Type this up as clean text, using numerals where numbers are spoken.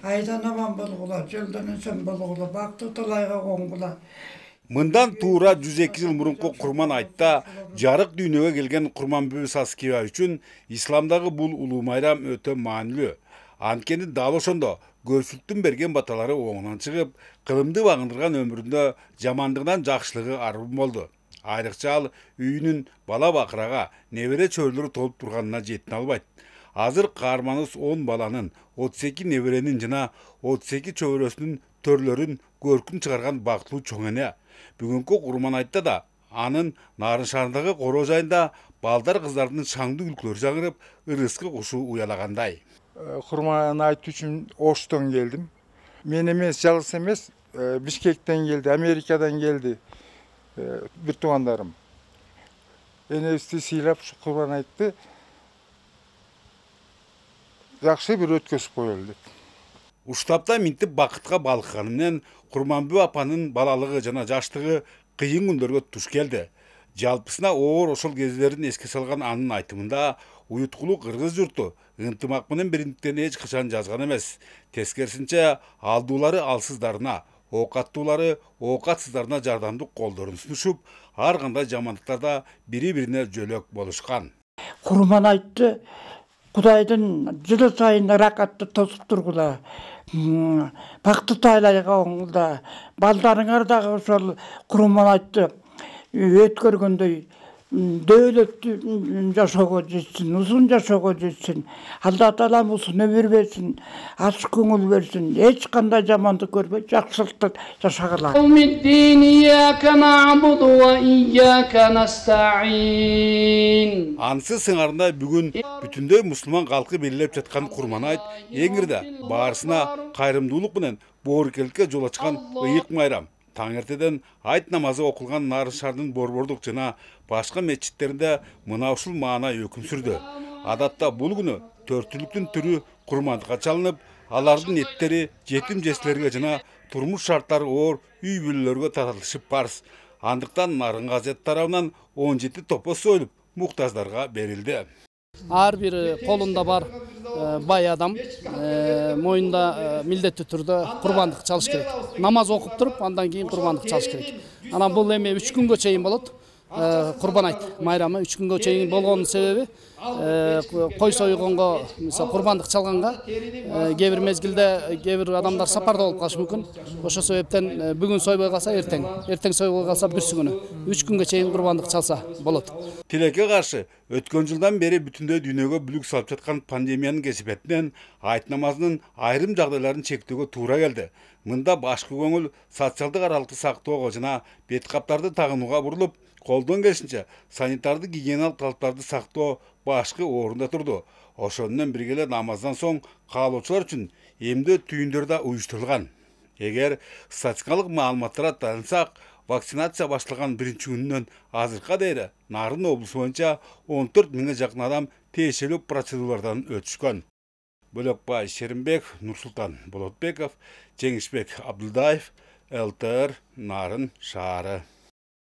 айдан аман болгула, жылдан эсен болгула, бактуу талайга коңгула. Мындан туура 102 жыл мурунку Курман айтта жарык дүйнөгө келген Курманбүбү Саскиева үчүн исламдагы бул улуу майрам өтө маанилүү. Анткени дал ошондо көпчүлүктүн берген баталары оңунан чыгып, кылымды багындырган өмүрүндө жамандыгынан жакшылыгы арбын болду. Айрыкча ал үйүнүн бала бакырага, небере чөйрөлөрү толуп турганына жетине албайт. Азыр каарманыбыз 10 баланын, 32 неберенин жана 32 чөбөрөсүнүн төрлөрүн көркүн чыгарган бактылуу чоң эне. Бүгүнкү Курман айтта да анын Нарын шаарындагы короо жайында балдар кыздардын шаңдуу күлкүлөрү жаңырып, ырыскы кушу уялагандай. Курман айт үчүн Оштон келдим. Мен эмес, жалгыз эмес, Бишкектен келди, Америкадан келди бир туугандарым. Энебизди сыйлап ушу Курман айтты жакшы бир өткөзүп коелу деп. Уштапта минтип бакытка балкыганы менен Курманбүбү апанын балалыгы жана жаштыгы кыйын күндөргө туш келди. Жалпысына оор ошол кездерин эске салган анын айтымында уюткулуу кыргыз журту ынтымак менен бириктиктерин эч качан жазган эмес. Тескерисинче алдуулары алсыздарына, оокаттуулары оокатсыздарына жардамдык колдорун сунушуп, ар кандай жамандыктарда бири-бирине жөлөк болушкан. Курман айтты Кудайдын жылы сайын ракатты тосуп тургула. Бактуу тайлайга оңгула. Балдарыңар дагы ошол Курман айтты өткөргөндөй дөөлөттүү жашоого жетсин, узун жашоого жетсин. Алла Таалам узун өмүр берсин, ачык көңүл берсин, эч кандай жамандык көрбөй, жакшылыкта жашагыла. Ансыз сыңарында бүгүн бүтүндөй мусулман калкы белгилеп жаткан Курман айт эң ирде баарысына кайрымдуулук менен боорукеликке жол ачкан ыйык майрам. Таңертеден айт намазы окулган Нарын шаарынын Борбордук жана башка мечиттеринде мына ушул маана өкүм сүрдү. Адатта бул күнү төртүлүктүн түрү курмандыкка чалынып, алардын эттери жетим жесирлерге жана турмуш шарттары оор үй бүлөлөргө таратылышы парз. Андыктан Нарын газет тарабынан 17 топос союлуп, муктаждарга берилди. Ар бир колунда бар бай адам моюнда милдеттүү түрдө курбандык чалыш керек. Намаз окуп туруп, андан кийин курбандык чалыш керек. Анан бул эми 3 күнгө чейин болот. Курбан айт майрамы 3 күнгө чейин болгонун себеби кой сойгонго, мисалы курбандык чалганга кээ бир мезгилде кээ бир адамдар сапарда болуп калышы мүмкүн. Ошол себептен бүгүн сойбой калса эртең сойбой калса бүрсү күнү 3 күнгө чейин курбандык чалса болот. Тилекке каршы өткөн жылдан бери бүтүндөй дүйнөгө бүлүк салып жаткан пандемиянын кесипетинен айт намазынын айрым жагдайларын чектөөгө туура келди. Мында башкы көңүл социалдык аралыкты сактоого жана бет каптарды тагынууга бурулуп, колдон келишинче санитардык гигиеналык талаптарды сактоо башкы орунда турду. Ошону менен бирге эле намаздан соң каалоочулар үчүн эмдөө түйүндөр да уюштурулган. Эгер статистикалык маалыматтарга таянсак, вакцинация башталган биринчи күнүнөн азыркыга дейин Нарын облусу боюнча 14 миңге жакын адам тиешелүү процедуралардан өтүшкөн. Бөлөкбай Шеримбек, Нурсултан Болотбеков, Жеңишбек Абдулдаев, ЛТР, Нарын шаары.